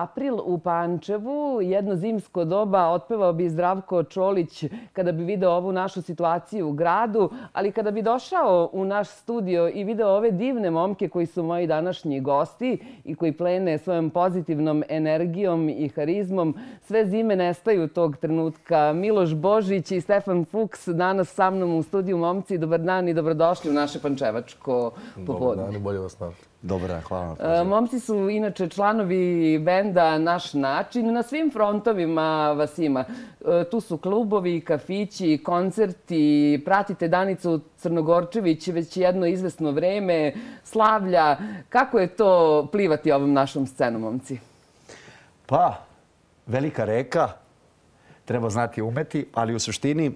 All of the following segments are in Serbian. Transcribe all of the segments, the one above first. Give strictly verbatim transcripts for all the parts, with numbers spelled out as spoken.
April u Pančevu, jedno zimsko doba, otpevao bi Zdravko Čolić kada bi video ovu našu situaciju u gradu, ali kada bi došao u naš studio i video ove divne momke koji su moji današnji gosti i koji plene svojom pozitivnom energijom i harizmom, sve zime nestaju tog trenutka. Miloš Božić i Stefan Fuchs danas sa mnom u studiju. Momci, dobar dan i dobrodošli u naše pančevačko popodne. Dobar dan i bolje vas našli. Dobar dan, hvala vam. Momci su inače članovi benda Naš način. Na svim frontovima vas ima. Tu su klubovi, kafići, koncerti. Pratite Danicu Crnogorčević već jedno izvesno vreme. Slavlja. Kako je to plivati ovom našom scenom, momci? Pa, velika reka. Treba znati umeti, ali u suštini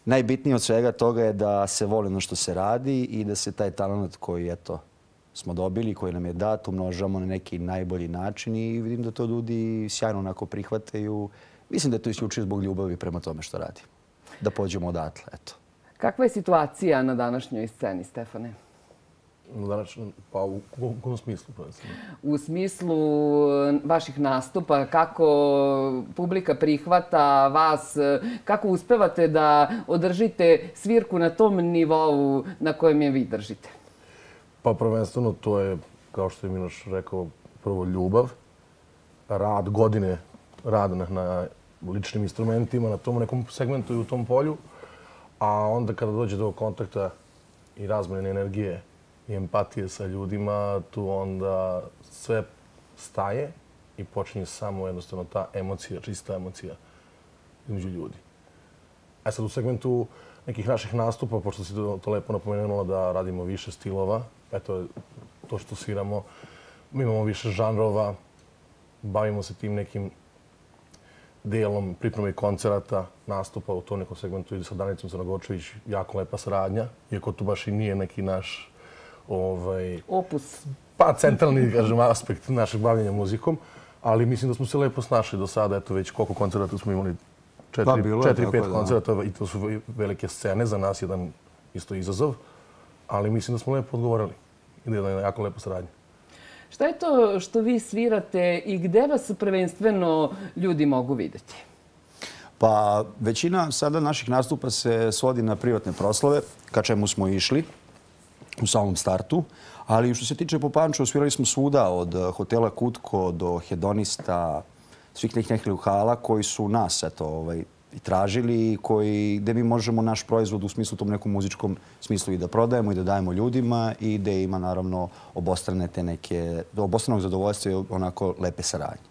najbitnije od svega toga je da se voli ono što se radi i da se taj talent koji, eto, smo dobili, koji nam je dat, umnožamo na neki najbolji način i vidim da to ljudi sjajno onako prihvataju. Mislim da je to isključivo zbog ljubavi prema tome što radi. Da pođemo odatle, eto. Kakva je situacija na današnjoj sceni, Stefane? Pa u kom smislu? U smislu vaših nastupa, kako publika prihvata vas, kako uspevate da održite svirku na tom nivou na kojem je vi držite? Pa prvenstveno to je, kao što je Miloš rekao, prvo ljubav, rad, godine rada na ličnim instrumentima, na tom nekom segmentu i u tom polju, a onda kada dođe do kontakta i razmene energije i empatije sa ljudima, tu onda sve staje i počinje samo jednostavno ta emocija, čista emocija između ljudi. A sad u segmentu nekih naših nastupa, pošto si to lepo napomenula da radimo više stilova, eto to što sviramo, mi imamo više žanrova, bavimo se tim nekim delom pripreme koncerata, nastupa u tom nekom segmentu i sa Danicom Crnogorčević jako lepa saradnja, iako to baš i nije neki naš opus. Pa centralni, kažem, aspekt našeg bavljenja muzikom, ali mislim da smo se lepo snašli do sada. Eto već koliko koncerata smo imali, četiri, pet koncerata i to su velike scene, za nas jedan isto izazov, ali mislim da smo lepo odgovorili i da je jedna jako lepa saradnja. Šta je to što vi svirate i gde vas prvenstveno ljudi mogu vidjeti? Pa većina sada naših nastupa se svodi na privatne proslave, ka čemu smo išli u samom startu, ali što se tiče po Pančevu, svirali smo svuda, od hotela Kutko do Hedonista, svih nekih lokala koji su nas i tražili i gde mi možemo naš proizvod u smislu tom nekom muzičkom smislu i da prodajemo i da dajemo ljudima i gde ima naravno obostrane te neke, obostranog zadovoljstva i onako lepe saradnje.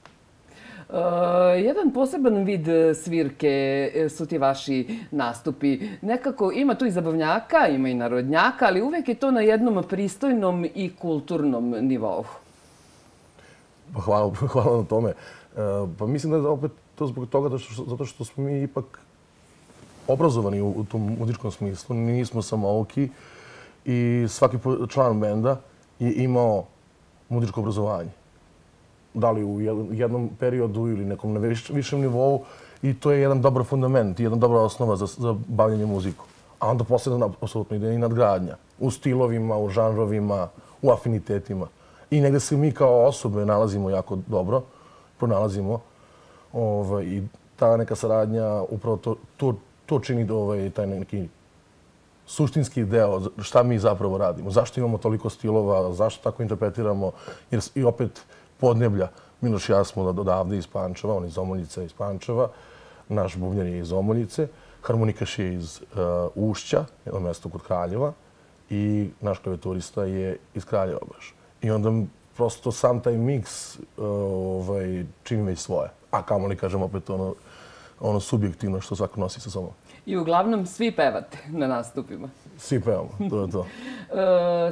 Jedan poseban vid svirke su ti vaši nastupi. Nekako ima tu i zabavnjaka, ima i narodnjaka, ali uvek je to na jednom pristojnom i kulturnom nivou. Hvala na tome. Pa mislim da je opet to zbog toga zato što smo mi ipak obrazovani u tom muzičkom smislu. Nismo samouki i svaki član benda je imao muzičko obrazovanje. Da li u jednom periodu ili nekom na višem nivou, i to je jedan dobar fundament, jedna dobra osnova za bavljanje muzikom. A onda posledno apsolutno ide i nadgradnja u stilovima, u žanrovima, u afinitetima. I negde se mi kao osobe nalazimo jako dobro, pronalazimo i ta neka saradnja, upravo to čini taj neki suštinski deo, šta mi zapravo radimo, zašto imamo toliko stilova, zašto tako interpretiramo, jer i opet podneblja. Miloš i ja smo odavde iz Pančeva, on iz Omoljica iz Pančeva, naš bubnjar je iz Omoljice, harmonikaš je iz Ušća, jedno mesto kod Kraljeva, i naš klavijaturista je iz Kraljeva baš. I onda prosto sam taj miks čini već svoje. A kamo li, kažem, opet ono subjektivno što svako nosi sa sobom. I uglavnom svi pevate na nastupima. Svi pevamo, to je to.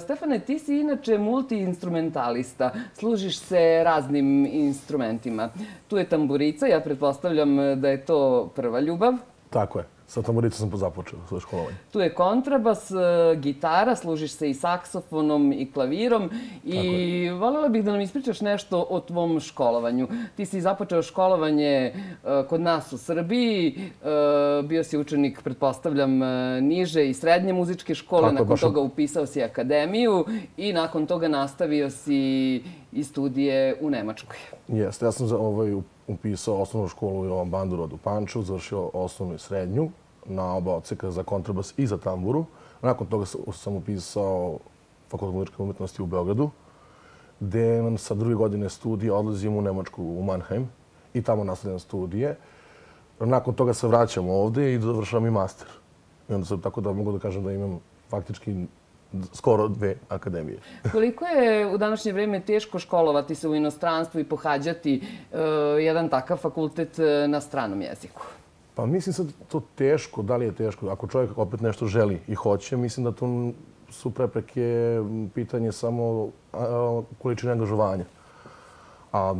Stefane, ti si inače multi-instrumentalista. Služiš se raznim instrumentima. Tu je tamburica, ja pretpostavljam da je to prva ljubav. Tako je. Sa tamburicom sam započeo svoje školovanje. Tu je kontrabas, gitara, služiš se i saksofonom i klavirom. I voljela bih da nam ispričaš nešto o tvom školovanju. Ti si započeo školovanje kod nas u Srbiji. Bio si učenik, pretpostavljam, niže i srednje muzičke škole. Nakon toga upisao si akademiju i nakon toga nastavio si i studije u Nemačkoj. Jeste, ja sam upisao osnovnu školu Jovan Bandurod u Pančevu, završio osnovnu i srednju na oba odseka za kontrabas i za tamburu. Nakon toga sam upisao Fakultet muzičke umetnosti u Beogradu, gde sa druge godine studije odlazim u Nemačku, u Mannheim, i tamo nastavljam studije. Nakon toga se vraćam ovde i završavam i master. I onda sam tako da mogu da kažem da imam faktički skoro dve akademije. Koliko je u današnje vreme teško školovati se u inostranstvu i pohađati jedan takav fakultet na stranom jeziku? Pa mislim sad to teško, da li je teško. Ako čovjek opet nešto želi i hoće, mislim da tu su prepreke pitanje samo količine angažovanja. A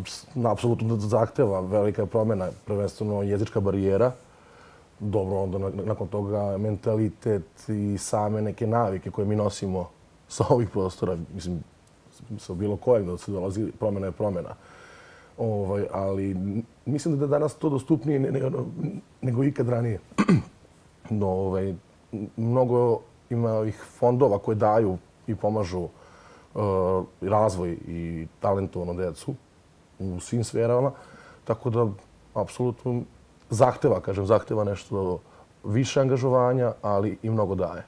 apsolutno zahteva velika promjena, prvenstveno jezička barijera. Dobro, onda nakon toga mentalitet i same neke navike koje mi nosimo sa ovih prostora, mislim, sa bilo kojeg da se dolazi, promjena je promjena. Ali mislim da je danas to dostupnije nego ikad ranije. Mnogo ima ovih fondova koje daju i pomažu razvoj i talentovanu decu u svim sferama, tako da apsolutno zahteva, kažem, zahteva nešto više angažovanja, ali i mnogo daje.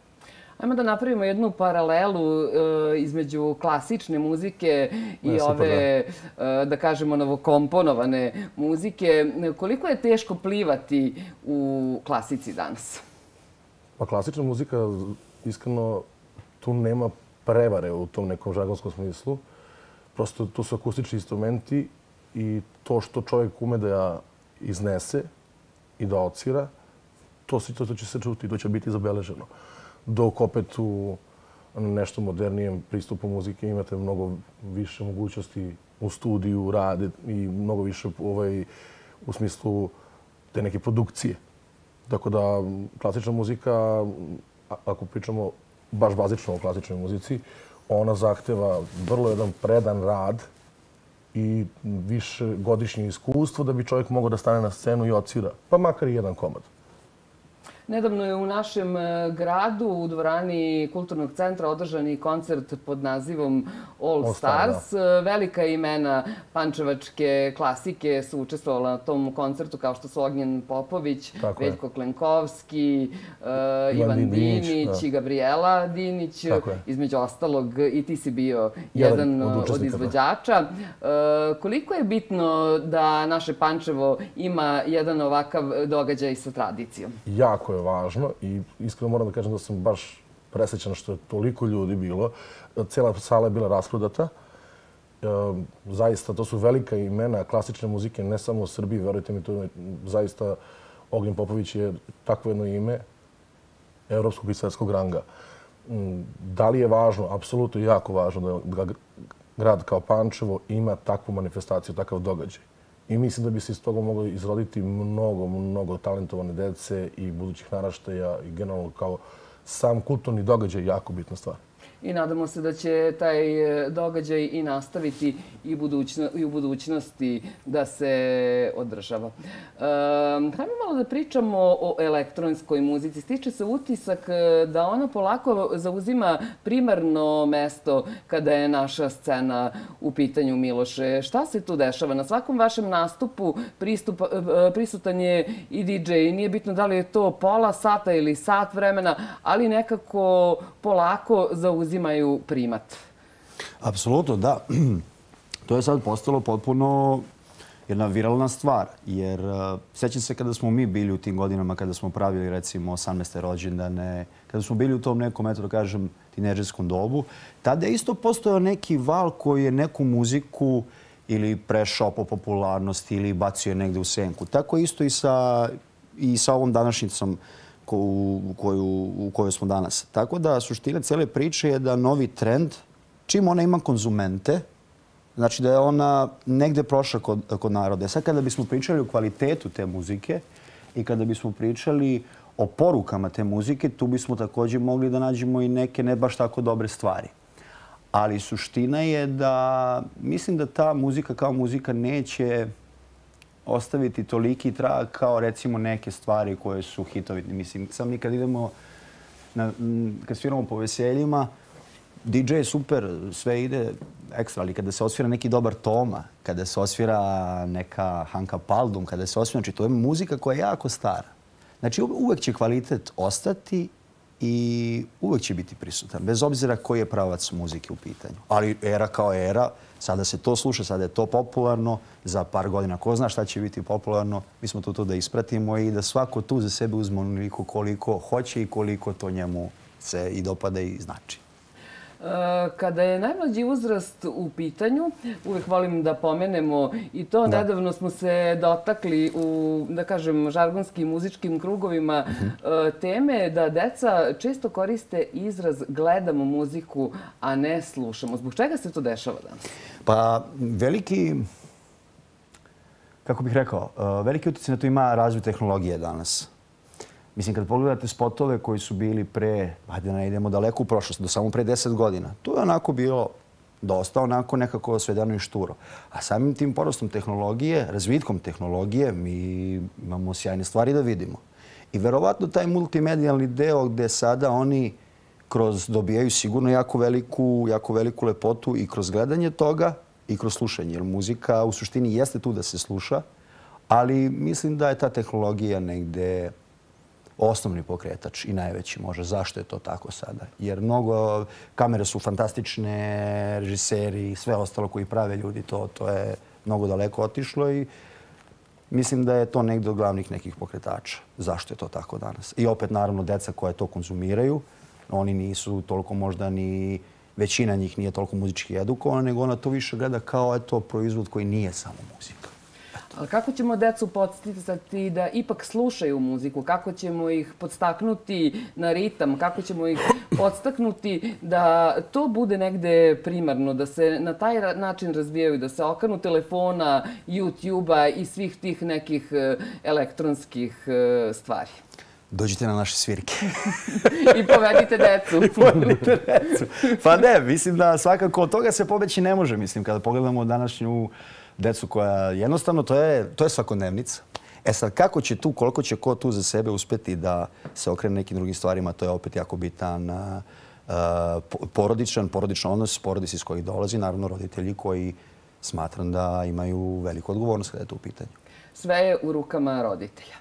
Ajmo da napravimo jednu paralelu između klasične muzike i ove, da kažemo, novokomponovane muzike. Koliko je teško plivati u klasici danas? Pa klasična muzika, iskreno, tu nema prevare u tom nekom žargonskom smislu. Prosto tu su akustični instrumenti i to što čovjek ume da iznese i da ocira, to će se čuti, to će biti zabeleženo. Dok opet u nešto modernijem pristupu muzike imate mnogo više mogućnosti u studiju, rade i mnogo više u smislu te neke produkcije. Tako da klasična muzika, ako pričamo baš bazično o klasičnoj muzici, ona zahteva vrlo jedan predan rad i više godišnje iskustvo da bi čovjek mogao da stane na scenu i ocira, pa makar i jedan komad. Nedavno je u našem gradu u dvorani Kulturnog centra održan i koncert pod nazivom All Stars. Velika imena pančevačke klasike su učestvovala na tom koncertu, kao što su Ognjen Popović, Veljko Klenkovski, Ivan Dinić i Gabriela Dinić. Između ostalog, i ti si bio jedan od izvođača. Koliko je bitno da naše Pančevo ima jedan ovakav događaj sa tradicijom? Jako je važno i iskreno moram da kažem da sam baš presrećan što je toliko ljudi bilo. Cijela sala je bila rasprodata. Zaista, to su velika imena klasične muzike, ne samo u Srbiji, verujte mi, to je zaista Ognjen Popović je takvo jedno ime evropskog i svetskog ranga. Da li je važno? Apsolutno jako važno da grad kao Pančevo ima takvu manifestaciju, takav događaj. I mislim da bi se iz toga moglo izroditi mnogo, mnogo talentovane dece i budućih naraštaja i generalno kao sam kulturni događaj je jako bitna stvar. I nadamo se da će taj događaj i nastaviti i u budućnosti da se održava. Hajmo malo da pričamo o elektronskoj muzici. Stiče se utisak da ona polako zauzima primarno mesto kada je naša scena u pitanju, Miloše. Šta se tu dešava? Na svakom vašem nastupu prisutan je i di džej. Nije bitno da li je to pola sata ili sat vremena, ali nekako polako zauzima uzimaju primat. Apsolutno, da. To je sad postalo potpuno jedna viralna stvar. Jer sjećam se kada smo mi bili u tim godinama, kada smo pravili recimo osamnaeste rođendane, kada smo bili u tom nekom, eto da kažem, tinejdžerskom dobu, tada je isto postojao neki val koji je neku muziku ili prešao po popularnosti ili bacio je negde u senku. Tako isto i sa, i sa ovom današnjicom u kojoj smo danas. Tako da suština cele priče je da novi trend, čim ona ima konzumente, znači da je ona negde prošla kod naroda. Sad kada bismo pričali o kvalitetu te muzike i kada bismo pričali o porukama te muzike, tu bismo također mogli da nađemo i neke ne baš tako dobre stvari. Ali suština je da mislim da ta muzika kao muzika neće ostaviti toliki trag kao recimo neke stvari koje su hitovi. Mislim, sam mi kad idemo, kad sviramo po veseljima, D J je super, sve ide ekstra, ali kada se osvira neki dobar Toma, kada se osvira neka Hanka Paldum, kada se osvira, znači to je muzika koja je jako stara. Znači uvek će kvalitet ostati i uvek će biti prisutan, bez obzira koji je pravac muzike u pitanju. Ali era kao era, sada se to sluša, sada je to popularno, za par godina ko zna šta će biti popularno, mi smo tu tu da ispratimo i da svako tu za sebe uzme onoliko koliko hoće i koliko to njemu se i dopada i znači. Kada je najmlađi uzrast u pitanju, uvek volim da pomenemo i to, nedavno smo se dotakli u, da kažem, žargonskim muzičkim krugovima teme da deca često koriste izraz gledamo muziku, a ne slušamo. Zbog čega se to dešava danas? Pa veliki, kako bih rekao, veliki utjecaj na to ima razvoj tehnologije danas. Mislim, kad pogledate spotove koji su bili pre, hajde da ne idemo daleko u prošlost, do samo pre deset godina, to je onako bilo dosta onako nekako svedeno i šturo. A samim tim porastom tehnologije, razvitkom tehnologije, mi imamo sjajne stvari da vidimo. I verovatno taj multimedijalni deo gde sada oni kroz dobijaju sigurno jako veliku, jako veliku lepotu i kroz gledanje toga i kroz slušanje. Jer muzika u suštini jeste tu da se sluša, ali mislim da je ta tehnologija negde osnovni pokretač i najveći može. Zašto je to tako sada? Jer mnogo kamere su fantastične, režiseri i sve ostalo koji prave ljudi, to, to je mnogo daleko otišlo i mislim da je to negdje od glavnih nekih pokretača. Zašto je to tako danas? I opet, naravno, deca koja to konzumiraju, oni nisu toliko možda ni, većina njih nije toliko muzički edukovana, nego ona to više gleda kao eto proizvod koji nije samo muzika. Ali kako ćemo decu podsticati da ipak slušaju muziku? Kako ćemo ih podstaknuti na ritam? Kako ćemo ih podstaknuti da to bude negde primarno, da se na taj način razvijaju, da se okanu telefona, YouTube-a i svih tih nekih elektronskih stvari? Dođite na naše svirke. I povedite decu. I povedite decu. Pa ne, mislim da svakako od toga se pobeći ne može. Mislim, kada pogledamo današnju decu koja jednostavno, to je, to je svakodnevnica. E sad, kako će tu, koliko će ko tu za sebe uspeti da se okrene nekim drugim stvarima, to je opet jako bitan uh, porodičan, porodičan odnos, porodici iz kojih dolazi, naravno roditelji koji smatram da imaju veliku odgovornost kada je to u pitanju. Sve je u rukama roditelja.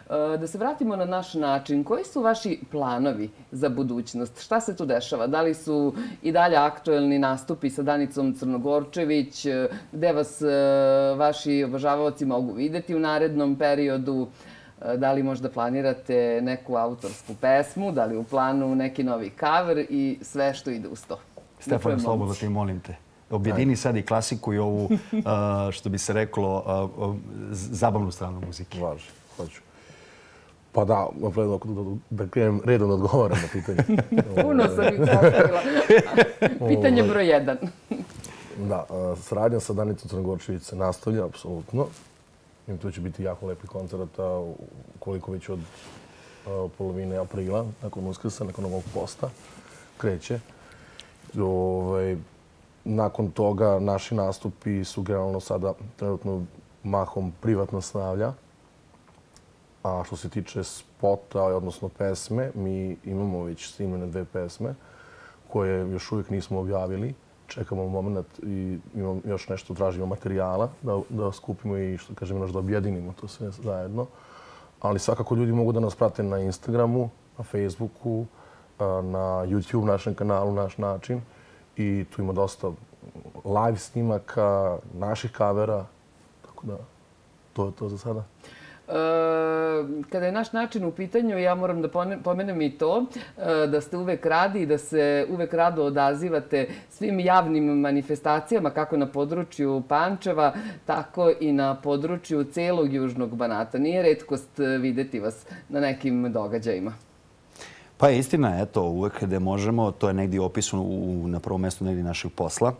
Da se vratimo na naš način. Koji su vaši planovi za budućnost? Šta se tu dešava? Da li su i dalje aktuelni nastupi sa Danicom Crnogorčević? Gde vas vaši obožavaoci mogu videti u narednom periodu? Da li možda planirate neku autorsku pesmu? Da li u planu neki novi cover i sve što ide uz to? Stefan, slobodno ti molim te. Objedini sad i klasiku i ovu, što bi se reklo, zabavnu stranu muzike. Važi, hoću. Pa da, da krenem redom da odgovaram na pitanje. Puno sam ih postavila. Pitanje broj jedan. Da, saradnja sa Danicom Crnogorčević se nastavlja, apsolutno. I to će biti jako lepi koncerta, koliko već od polovine aprila, nakon Uskrsa, nakon ovog posta, kreće. Nakon toga naši nastupi su generalno sada trenutno mahom privatno snavlja. A što se tiče spota, odnosno pesme, mi imamo već snimljene dve pesme koje još uvijek nismo objavili. Čekamo moment i imamo još nešto, tražimo materijala da, da skupimo i što kažemo još da objedinimo to sve zajedno. Ali svakako ljudi mogu da nas prate na Instagramu, na Facebooku, na YouTube našem kanalu Naš način. I tu ima dosta live snimaka, naših kavera, tako da to je to za sada. Kada je naš način u pitanju, ja moram da pomenem i to, da ste uvek radi i da se uvek rado odazivate svim javnim manifestacijama, kako na području Pančeva, tako i na području celog Južnog Banata. Nije retkost videti vas na nekim događajima. Pa je istina, eto, uvek gde možemo, to je negdje opisano na prvom mjestu negdje našeg posla.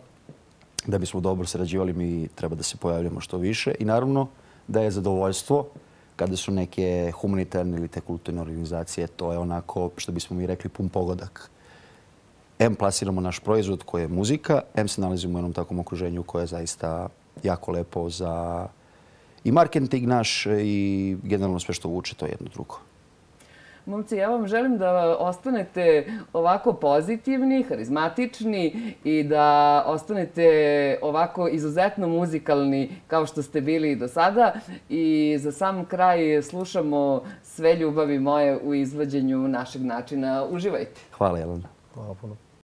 Da bismo dobro sarađivali, mi treba da se pojavljamo što više i naravno da je zadovoljstvo kada su neke humanitarne ili te kulturne organizacije, to je onako, što bismo mi rekli, pun pogodak. Em plasiramo naš proizvod koji je muzika, em se nalazimo u jednom takvom okruženju koje je zaista jako lepo za i marketing naš i generalno sve što vuče, to je jedno drugo. Momci, ja vam želim da ostanete ovako pozitivni, harizmatični i da ostanete ovako izuzetno muzikalni kao što ste bili i do sada. I za sam kraj slušamo Sve ljubavi moje u izvođenju našeg načina. Uživajte. Hvala, Jelena. Hvala puno.